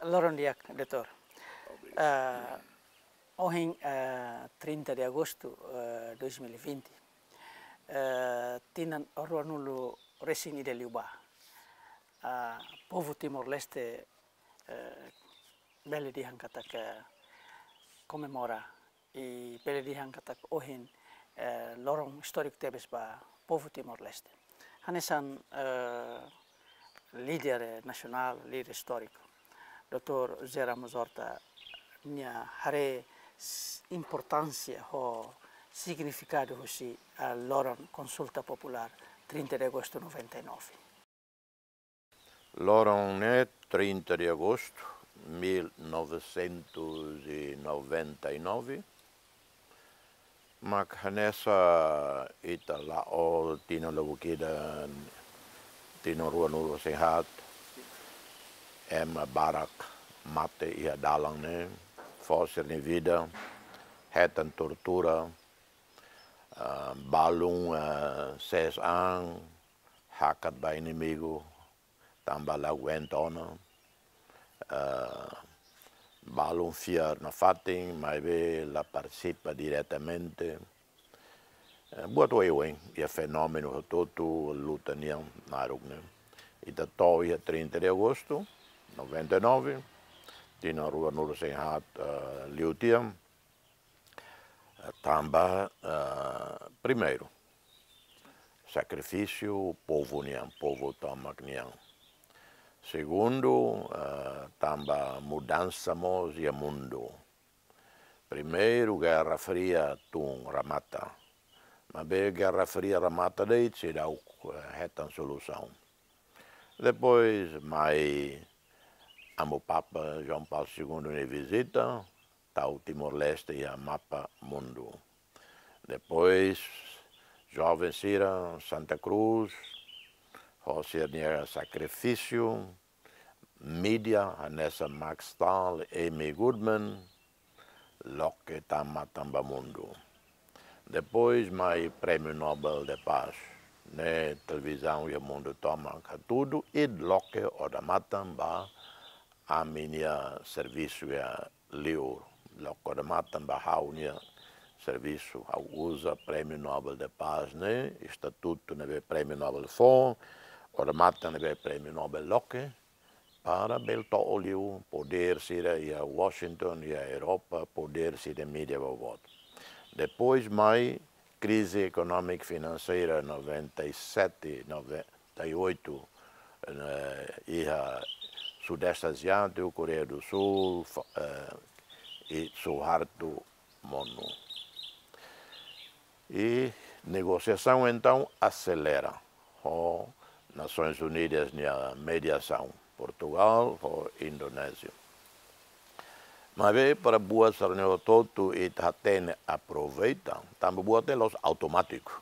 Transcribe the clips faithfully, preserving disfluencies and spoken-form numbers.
Loron di'ak, doutór. Ah, ohin, ah, trinta de agosto, ah, dois mil e vinte, ah, tinan ruanulu resin ida liubá. Ah, povu Timor-Leste, ah, bele dehan katak komemora i bele dehan katak ohin, eh, loron istóriku tebes ba povu Timor-Leste. Hanesan, eh, líder, eh, nasionál, líder istóriku, doutór José Ramos Horta, nia haree s-, importánsia ho signifikadu husi, eh, loron konsulta populár trinta de agosto noventa e nove. Loron ne'e trinta de agosto mil novecentos e noventa e nove, mak hanesan ita la'o tinan lubuk ida, tinan ruanulu resin haat, ema barak mate iha dalan ne'e, fó sira-nia vida, hetan tortura, ah, balun, ah, sees an, hakat ba inimigu, tanba la aguenta ona, ah, balun fiar nafatin, maibé la partisipa diretamente. Eh, buat oioin, iha fenómenu hotu-hotu, luta nian naruk ne'e. Ita to'o iha trinta de agosto noventa e nove, tinan ruanulu resin haat, eh, liu tiha, eh, tanba, eh, primeiru, sakrifísiu povu nian, povu tomak nian. Segundu, eh, tanba mudansa mós iha mundu. Primeiru, Guerra Fria tun remata. Maibé Guerra Fria remata de'it, seidauk, eh, hetan solusaun. Depois, mai Amu Papa João Paulo segundo nia vizita, tau Timor-Leste iha mapa mundu. Depois, joven sira Santa Cruz, ho sira-nia sakrifísiu, mídia, hanesan Max Stahl, Amy Goodman, loke tama tan ba mundu. Depois mai Prémiu Nobel de Paz, ne'e televizaun iha mundu tomak hatudu, i loke odamatan ba ami-nia servisu iha liur, loke odamatan ba ha'u-nia servisu, ha'u uza Prémiu Nobel de Paz ne'e, estatutu ne'ebé Prémiu Nobel fó, odamatan ne'ebé Prémiu Nobel loke, para bele to'o liu podér sira iha Washington, iha Europa, podér sira mídia boboot. Depois mai krize ekonómika finanseira noventa e sete, noventa e oito, eh, iha Sudeste Asiátiku, Koreia do Sul, fa-, eh, i Suharto Mono. I negosiasaun entaun aselera ho Nasoins Unidas nia mediasaun, Portugal ho Indonézia. Maibé para buat sira-ne'e hotu-hotu ita hatene aproveita, tanba buat ne'e la'ós automátiku.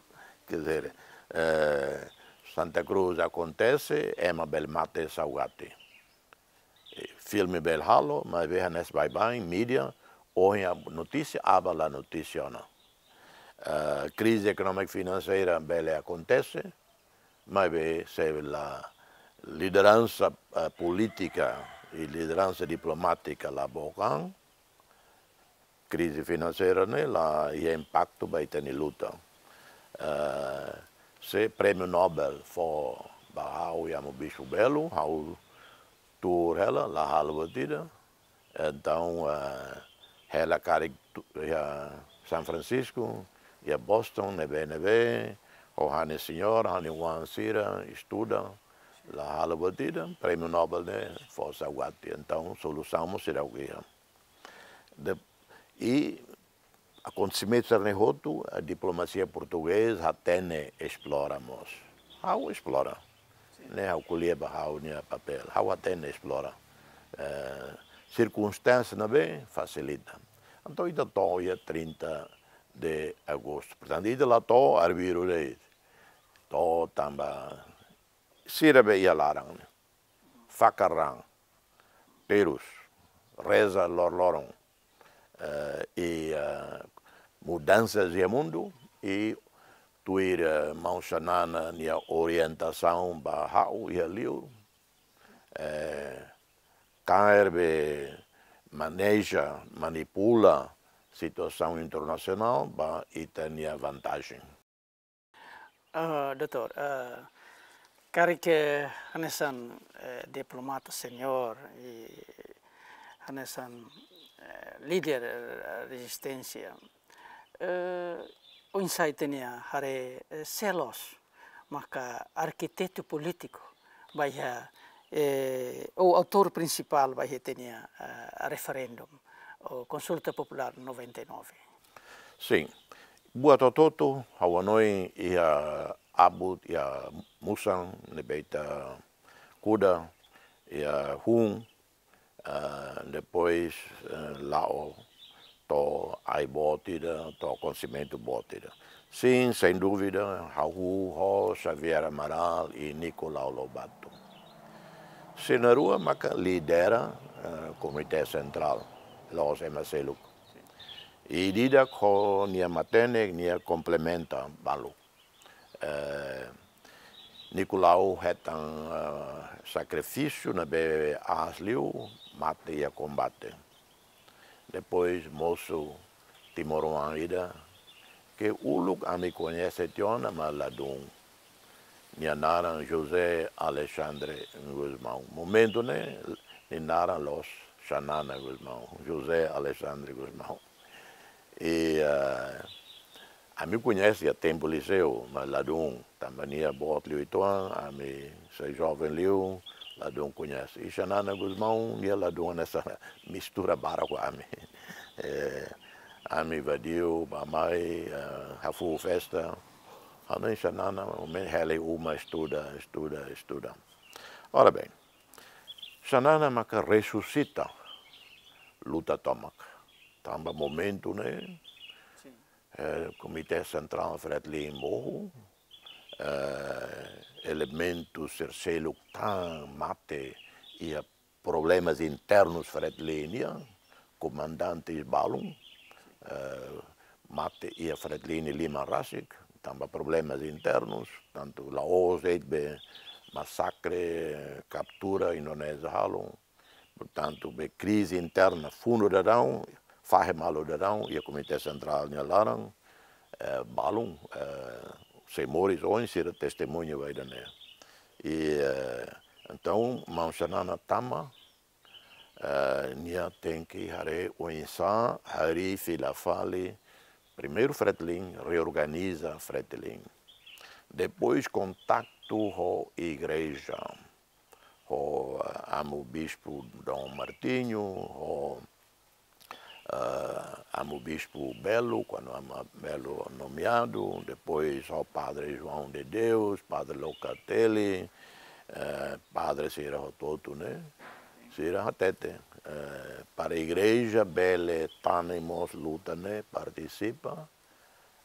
Quer dizer, eh, Santa Cruz akontese, ema bele mate saugati. Eh, filme bele halo, maibé hanesan baibain, mídia, ohin notísia, aban la notísia ona. Eh, krize ekonómika finanseira bele akontese, maibé se la lideransa, eh, polítika i lideransa diplomátika la book an, krize finanseira ne'e la iha impaktu ba ita-nia luta. Eh, se Prémiu Nobel fó ba ha'u i Amu Bispu Belo, ha'u tuur hela, la halo buat ida. Entaun, eh, hela karik tu-, iha São Francisco, iha Boston, ne'ebé-ne'ebé, ho ha'u-nia señora, ha'u-nia oan sira, estuda, la halo buat ida, Prémiu Nobel ne'e fó saugati. Entaun, solusaun mós seidauk iha. De, i akontesimentu sira-ne'e hotu, a diplomasia portugeza hatene esplora mós. Ha'u esplora. Ne'e ha'u ko'alia ba ha'u-nia papél. Ha'u hatene esplora. Eh, sirkunstánsia ne'ebé fasilita. Entaun, ita to'o iha trinta de agosto. Portantu, ita la to'o arbiru de'it. To'o tanba sira be iha laran ne'e. Fakar raan, terus, reza lor-loron, eh, i, eh, mudansa iha mundu, i tuir, eh, Maun Xanana nia orientasaun ba ha'u iha liur, eh, kaer be maneja, manipula situasaun internasionál ba ita-nia vantajen. Ah, doutór, ah, karik hanesan, eh, diplomata seniór i hanesan, eh, líder, eh, rezisténsia, eh, oinsá ita-nia haree, eh, sé loos maka arkitetu polítiku ba iha, eh, ou autór prinsipál ba iha ita-nia, eh, referendum ou konsulta populár noventa e nove. Sin. Buat hotu-hotu, ha'u hanoin iha abut, iha musan, ne'ebé ita kuda, iha hun, ah, depois, eh, la'o to'o ai-boot ida, to'o konsimentu boot ida. Sin, sem dúvida, ha'u ho Xavier Amaral i Nicolau Lobato. Sira na'in-rua maka lidera, eh, Komité Sentrál, la'ós ema seluk. I ida-idak ho nia matenek, nia komplementa balu. Eh, Nicolau hetan, eh, sakrifísiu ne'ebé aas liu, mate iha kombate. Depois mosu timoroan ida, ke uluk ami koñese tiha ona, mas ladún. Nia naran José Alexandre Gusmão. Momentu ne'e, nia naran la'ós Xanana Gusmão, José Alexandre Gusmão. I, eh, ami koñese iha tempu liseu, mas ladún, tanba nia boot liu uitoan, ami sei joven liu, ladún koñese. I Xanana Gusmão, nia ladún hanesan mistura barak ho ami. Eh, ami invadiu, bá-mai, eh, hafuu festa. Ha'u hanoin Xanana, momentu hela iha uma estuda, estuda, estuda. Ora bem, Xanana maka resusita luta tomak. Tanba momentu ne'e, sin, eh, Komité Sentrál Fretilin mohu, eh, elementu sira seluk tan mate iha problemas internus Fretilin nian, komandantes balun, eh, mate iha Fretilin nia liman rasik, tanba problemas internus, tantu la'ós de'it be masakre, kaptura Indonézia halo, portantu, be krize interna, fundu daudaun, fahe malu daudaun, iha Komité Sentrál nia laran, eh, balun, eh, sei moris ohin, sira testemuña ba ida-ne'e. I, eh, entaun, maun Xanana tama, eh, nia tenke haree oinsá harii fila fali, primeiru Fretilin, reorganiza Fretilin. Depois kontaktu ho igreja, ho, eh, Amu Bispu Dom Martinho, ho, eh, Amu Bispu Belo, kuandu Amu Belo nomeadu, depois ho Padre João de Deus, Padre Locatelli, eh, padre sira hotu-hotu ne'e, sira hatete, eh, para igreja bele tane mós luta ne'e, partisipa,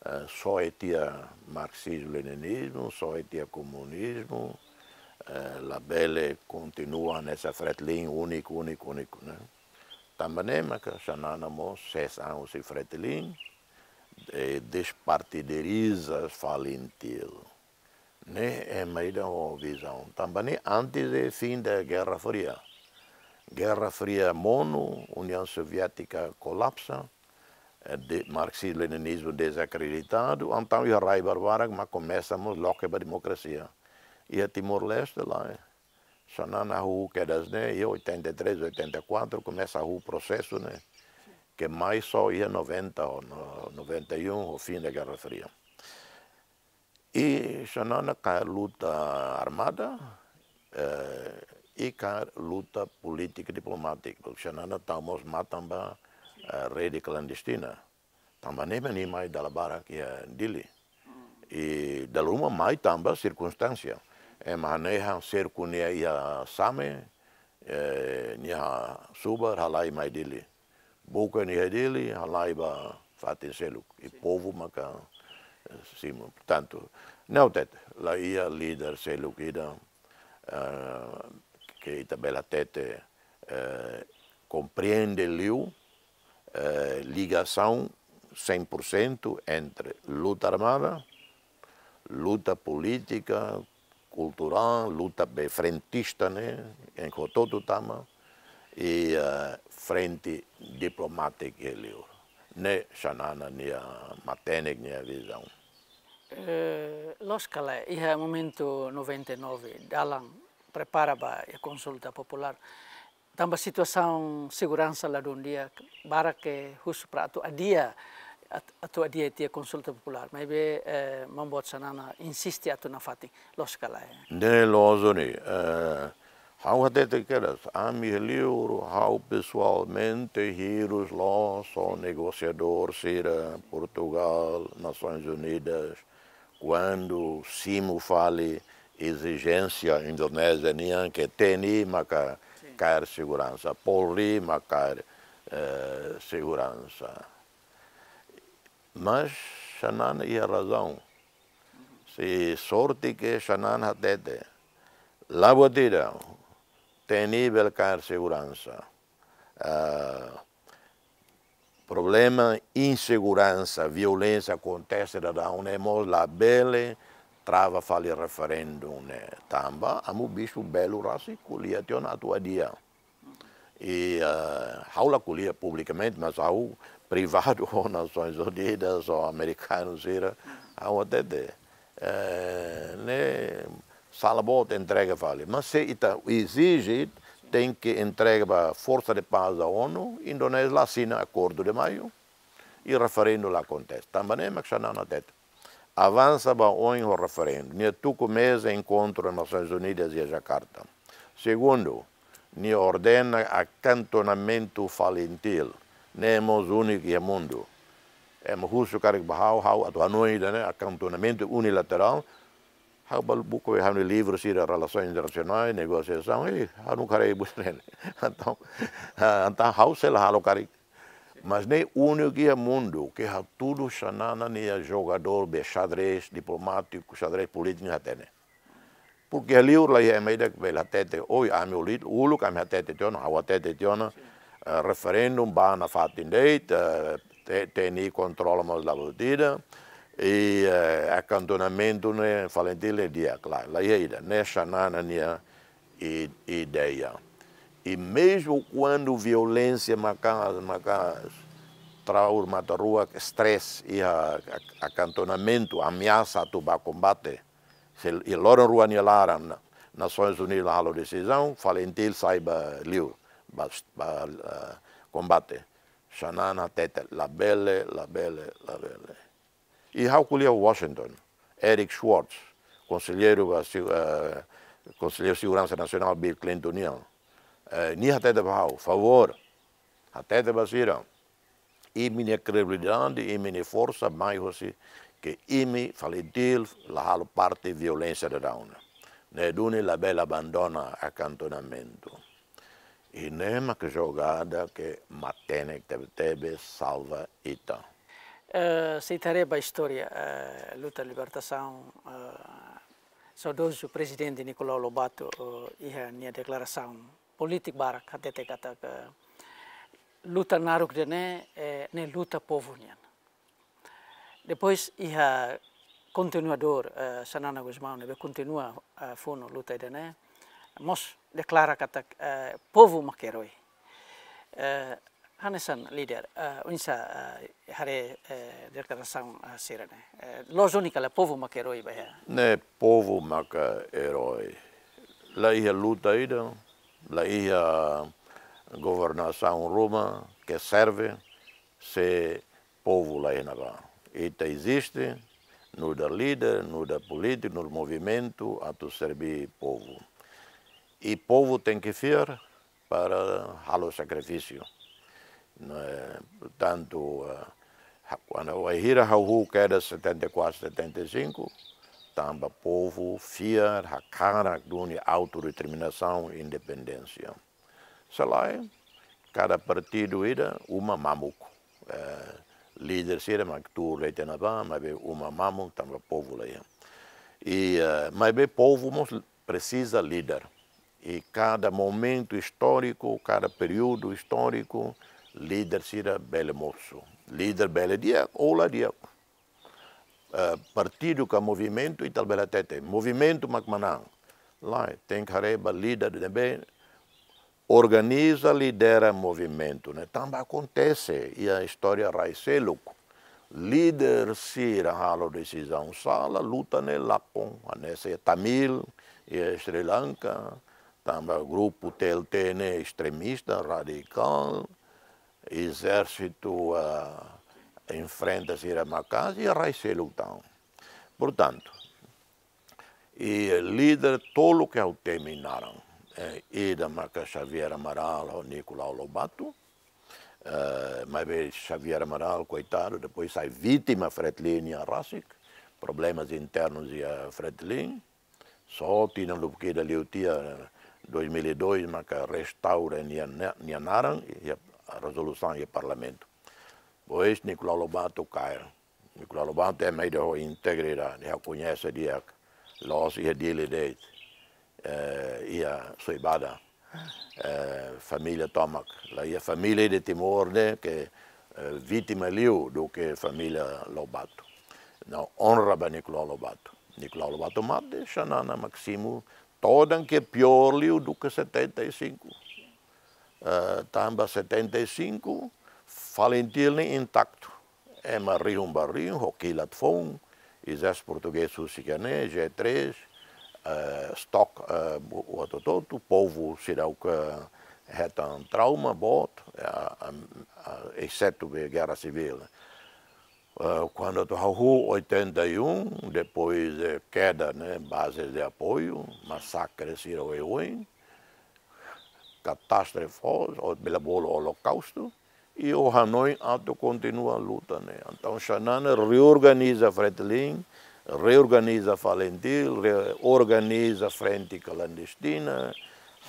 eh, soe tiha marxizmu-leninizmu, soe tiha komunizmu, eh, labele kontinua hanesan Fretilin úniku, úniku, úniku, ne'e. Tanba ne'e maka Xanana mós sees an husi Fretilin, eh, despartidariza FALINTIL. Ne'e ema ida ho vizaun. Tanba ne'e antes de fim da Guerra Fria. Guerra Fria monu, União Soviética kolapsa, eh, de, marxizmu-leninizmu dezakreditadu, entaun iha rai barak-barak mak komesa mós loke ba demokrasia. Iha Timor-Leste lae, eh, Xanana hahú kedas ne'e, iha oitenta e três, oitenta e quatro, komesa hahú prosesu ne'e, ke mai só iha noventa ou no-, noventa e um, ho fim da Guerra Fria. I Xanana kaer luta armada, eh, i kaer luta polítika diplomátika. Xanana tau mós matan ba, eh, rede klandestina. Tanba ne'e mak nia mai dala barak iha Dili. I dala ruma mai tanba sirkunstánsia. Ema hanehan serku nia iha Same, eh, nia hasubar halai mai Dili. Buka nia iha Dili, halai ba fatin seluk. I povu maka, eh, simu. Portantu, ne'e hatete, la iha líder seluk ida, eh, ke ita bele hatete, eh, komprende liu, eh, ligasaun cem por cento entre luta armada, luta polítika, kulturál, luta be frentista ne'e, em hotu-hotu tama, i, eh, frente diplomátika iha liur. Ne'e Xanana nia matenek nia vizaun. Eh, loos ka lae, iha momentu noventa e nove, dalan prepara ba iha konsulta populár. Tanba situasaun seguransa ladún di'ak, barak ke husu para atu adia, at-, atu adia tiha konsulta populár. Maibé, eh, maun boot Xanana insiste atu nafatin, loos ka lae. Ne'e loos duni, eh, ha'u hatete kedas, ami iha liur, ha'u pesoalmente hirus loos ho negosiadór sira Portugal, Nasoins Unidas, kuandu simu fali ezijénsia Indonézia nian ke T N I maka kaer seguransa, Polri maka kaer, eh, seguransa. Mas Xanana iha razaun. Sei sorte ke Xanana hatete. La buat ida, T N I bele kaer seguransa. Ah, problema inseguransa, violénsia akontese daudaun ne'e mós labele trava fali referendu ne'e. Tanba Amu Bispu Belo rasik ko'alia tiha ona atu adia. I, eh, ha'u la ko'alia publikamente, mas ha'u privadu ho Nasoins Unidas, ho amerikanu sira, ha'u hatete, eh, ne'e sala boot entrega fali. Mas se ita ezije, tenke entrega ba Forsa de Paz da ONU, Indonézia la asina Acordo de Maio, i referendu la akontese. Tanba ne'e mak Xanana hatete. Avansa ba oin ho referendu. Nia tuku meza enkontru Nasoins Unidas iha Jakarta. Segundu, nia ordena akantonamentu Falintil. Ne'e mós úniku iha mundu. Ema husu karik ba ha'u, ha'u atu hanoin ida-ne'e, akantonamentu unilaterál. Ha'u bá buka iha ha'u-nia livru sira relasoens internasionais, negosiasaun, eh, ha'u nunka haree buat ne'e. Entaun, ah, entaun ha'u sei la halo karik. Mas ne'e úniku iha mundu ke hatudu Xanana nia jogadór be xadrez diplomátiku, xadrez polítiku hatene. Porque iha liur la iha ema ida ke bele hatete, oi, ami uluk, uluk ami hatete tiha ona, ha'u hatete tiha ona, eh, referendu bá nafatin de'it, eh, T-, T N I kontrola mós la buat ida, i, eh, akantonamentu ne'e Falintil ne'e di'ak, la, la iha ida, ne'e Xanana nia i-, ideia. I mezmu kuandu violénsia maka'as, maka'as, trauma, mata-rua, stress, iha ak-, akantonamentu, ameasa atu bá kombate. Se iha loron rua nia laran, Nasoins Unidas la halo desizaun, Falintil sai ba liur, ba, ba, eh, kombate. Xanana hatete, labele, labele, labele. I ha'u ko'alia Washington, Eric Schwartz, konselleiru ba se-, eh, konselleiru seguransa nasionál Bill Clinton nian. Eh, nia hatete ba ha'u, favór, hatete ba sira, imi-nia kredibilidade, imi-nia forsa mai hosi ke imi Falintil la halo parte violénsia daudaun. Ne'e duni labele abandona akantonamentu. I ne'e mak jogada ke matenek tebe-tebes salva ita. Eh, se ita haree ba istória, eh, luta libertasaun, eh, saudozu Prezidente Nicolau Lobato, eh, iha nia deklarasaun polítika barak hatete katak, eh, luta naruk ida-ne'e, eh, ne'e luta povu nian. Depois iha kontinuadór, eh, Xanana Gusmão ne'ebé kontinua, eh, funu luta ida-ne'e, mós deklara katak, eh, povu mak erói. Eh, hanesan líder, eh, oinsá, eh, haree, eh, deklarasaun, eh, sira-ne'e. Eh, loos duni ka lae povu mak erói ba iha? Ne'e povu mak erói. La iha luta ida, la iha governasaun ruma ke serve, se povu la iha ne'ebá. Ita eziste, nu'udar líder, nu'udar polítiku, nu'udar movimentu, atu serbí povu. I povu tenke fiar para halo sakrifísiu. Ne'e, portantu, eh, ha-, kuandu wainhira ha'u huu kedas setenta e quatro, setenta e cinco, tanba povu fiar, hakarak duni autodeterminasaun, independénsia. Se lae, kada partidu ida uma mamuk. Eh, líder sira mak tuur de'it iha ne'ebá, maibé uma mamuk tanba povu la iha. I, eh, maibé povu mós presiza líder. I kada momentu istóriku, kada períodu istóriku, líder sira bele mosu. Líder bele di'ak ou la di'ak. Eh, partidu ka movimentu, ita labele hatete movimentu mak manán. Lae, tenke haree ba líder ne'ebé organiza, lidera movimentu ne'e. Tanba akontese iha istória rai seluk. Líder sira halo desizaun sala, luta ne'e lakon, hanesan Tamil, iha Sri Lanka, tanba grupu T L T ne'e estremista, radikál, ezérsitu, ah, enfrenta sira maka'as, iha rai seluk tan. Portantu, i líder tolu ke ha'u temi naran, eh, ida maka Xavier Amaral ho Nicolau Lobato, eh, maibé Xavier Amaral, koitadu, depois sai vítima Fretilin nia rasik, problemas internus iha Fretilin, só tinan lubuk ida liu tiha, dois mil e dois, maka restaura nia, nia naran, iha rezolusaun iha parlamentu. Depois Nicolau Lobato kaer. Nicolau Lobato ema ida ho integridade, ha'u koñese di'ak, la'ós iha Dili de'it, eh, iha Soibada, eh, família tomak, la iha família de Timor ne'e ke, eh, vítima liu duké família Lobato. Entaun, onra ba Nicolau Lobato. Nicolau Lobato mate, Xanana mak simu, todan ke piór liu duké setenta e cinco. Eh, tanba setenta e cinco, Falintil ne'e intaktu. Ema rihun ba rihun, ho kilat foun, ezérsitu portugés husik iha ne'e, G três, eh, stok, eh, bu-, buat hotu-hotu, povu seidauk hetan trauma boot, eh, a, a, exetu be gerra sivíl. Eh, kuandu atu hahú oitenta e um, depois, eh, keda, ne'e, bases de apoiu, masakre sira oioin, katástrofes, ou bele bolu holokaustu, i ha'u hanoin atu kontinua luta ne'e. Entaun, Xanana reorganiza Fretilin, reorganiza Falintil, reorganiza frente klandestina,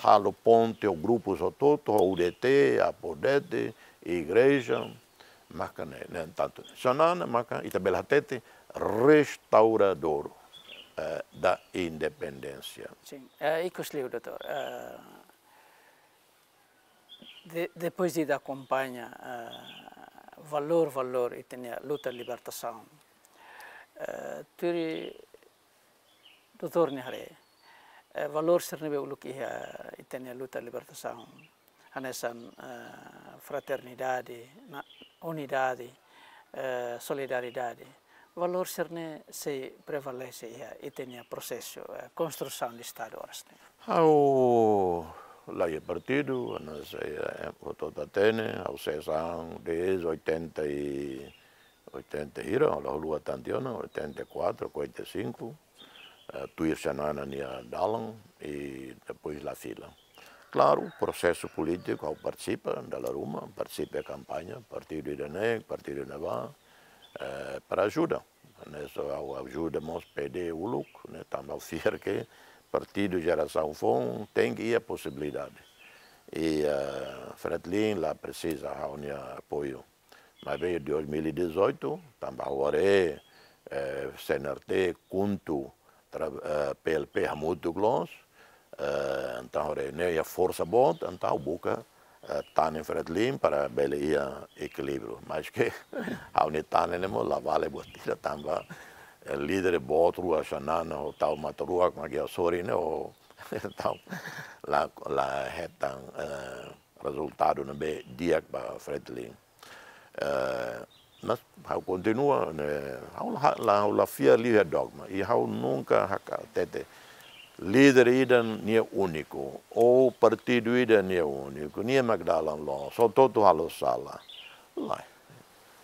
halo ponte ho grupus hotu-hotu, ho U D T, Apodete, igreja, maka ne'e, ne'e tantu. Xanana maka ita bele hatete restauradór, eh, da independénsia. Sin, eh, ikus liu, doutór. Eh, de-, depois de akompaña, eh, valór, valór ita-nia luta libertasaun, eh, tuir doutór nia haree, eh, valór sira ne'ebé uluk iha ita-nia luta libertasaun, hanesan, eh, fraternidade, na-, unidade, eh, solidariedade. Valór sira-ne'e sei prevalese iha ita-nia prosesu, eh, konstrusaun de Estadu oras ne'e. Ha'u la iha partidu, hanesan, eh, hotu-hotu hatene, ha'u seidauk desde oitenta e, oitenta hira, la haluha tantu ona, oitenta e quatro, oitenta e cinco, eh, tuir Xanana nia dalan, i depois la fila. Klaru, prosesu polítiku, ha'u partisipa, dala ruma, partisipa kampaña, partidu ida-ne'e, partidu ne'ebá, eh, para ajuda. Ne'e só ha'u ajuda mós P D uluk, ne'e tanba ha'u fiar ke partidu jerasaun foun tenke iha posibilidade. I, eh, Fretilin la presiza ha'u-nia apoiu. Maibé dois mil e dezoito, tanba ha'u haree, eh, C N R T, KHUNTO, tra-, eh, P L P hamutuk loos, eh, entaun haree ne'e iha forsa boot, entaun buka, eh, tanen Fretilin para bele iha ekilíbriu. Maske ha'u-nia tanen ne'e mós la vale buat ida tanba, eh, líder boot rua Xanana ho Tau Matan Ruak mak iha sorin ne'e, ho, entaun la, la hetan, eh, rezultadu ne'ebé di'ak ba Fretilin. Eh, mas ha'u kontinua, ne'e, ha'u la, la, ha'u la fiar liu iha dogma, i ha'u nunka hakarak hatete líder ida nia úniku, ou partidu ida nia úniku, nia mak dalan loos, hotu-hotu halo sala. Lae.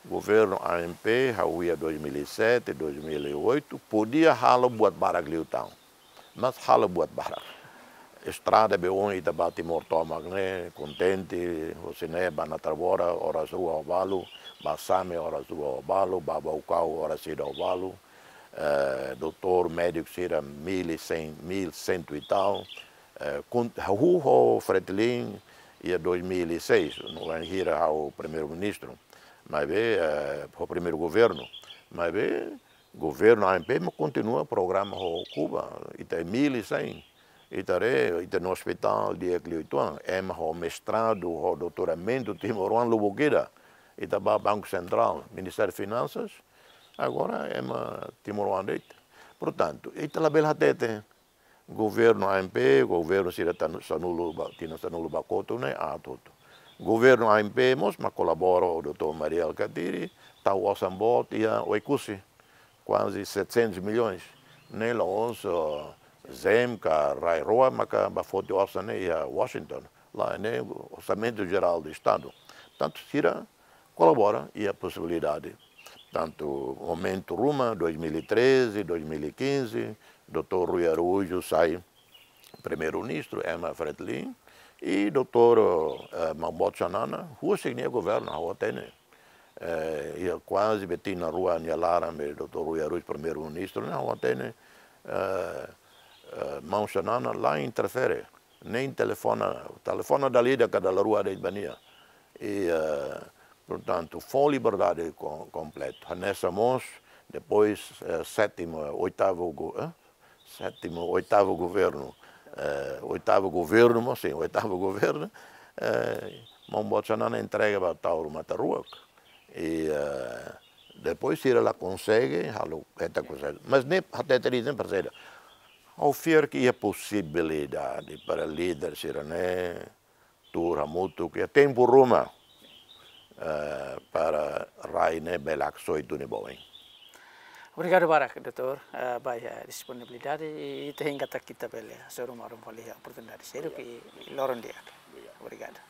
Governu A M P, ha'u iha dois mil e sete, dois mil e oito, podia halo buat barak liután. Mas halo buat barak. Estrada be ohin ita ba Timor tomak ne'e, kontente, husi ne'e ba Natarabora, oras rua ho balu, ba Same, oras rua ho balu, ba Baucau, oras ida ho balu, eh, doutór, médiku sira, mil e cem, mil cento e tal, eh, kun-, ha'u ho Fretilin, iha dois mil e seis, no wainhira ha'u primeiru-ministru, maibé, eh, ho primeiru governu, maibé, governu A M P mak kontinua programa ho Kuba, ita mil e cem, ita haree, ita-nia ospitál di'ak liu uitoan, ema ho mestradu, ho doutoramentu timoroan lubuk ida, ita ba Banku Sentrál, Ministériu Finansas, agora ema timoroan de'it. Portantu, ita labele hatete, Governu A M P, governu sira tan-, sanulu ba, tinan sanulu ba kotuk ne'e aat hotu. Governu A M P mós mak kolabora ho doutór Mari Alkatiri, tau osan boot iha Oekusi, kuaze setecentos milhões. Ne'e la'ós, eh, ZEESM ka rai rua maka bá foti osan ne'e iha Washington. Lae, ne'e Orsamentu Jerál do Estadu. Tantu sira kolabora iha posibilidade. Tantu momentu ruma, dois mil e treze, dois mil e quinze, doutór Rui Araújo sai Primeiru-Ministru, ema Fretilin, i doutór, eh, Maun Boot Xanana, husik nia governu, ha'u hatene. Eh, iha kuaze be tinan rua nia laran be doutór Rui Araújo Primeiru-Ministru, ne'e ha'u hatene, eh, eh, Maun Xanana la interfere, nein telefona, telefona dala ida ka dala rua de'it ba nia. I, eh, portantu, fó liberdade ko-, kompletu. Hanesan mós, depois, eh, sétimu, oitavu go-, eh? Sétimu, oitavu governu. Eh, oitavu governu, mas sin, oitavu governu. Eh, Maun Boot Xanana entrega ba Taur Matan Ruak. I, eh, depois sira la konsege, halo, hetan konsege. Mas ne'e, hatete de'it, ne'e, parseira. Ha'u fiar ke iha posibilidade para líder sira-ne'e tuur hamutuk iha tempu ruma, eh, para rai ne'e bele haksoit duni ba oin. Obrigadu barak, doutór, eh, ba, eh, disponibilidade i, i ita hein katak ita bele hasoru malu fali oportunidade seluk i, i loron di'ak. Obrigadu.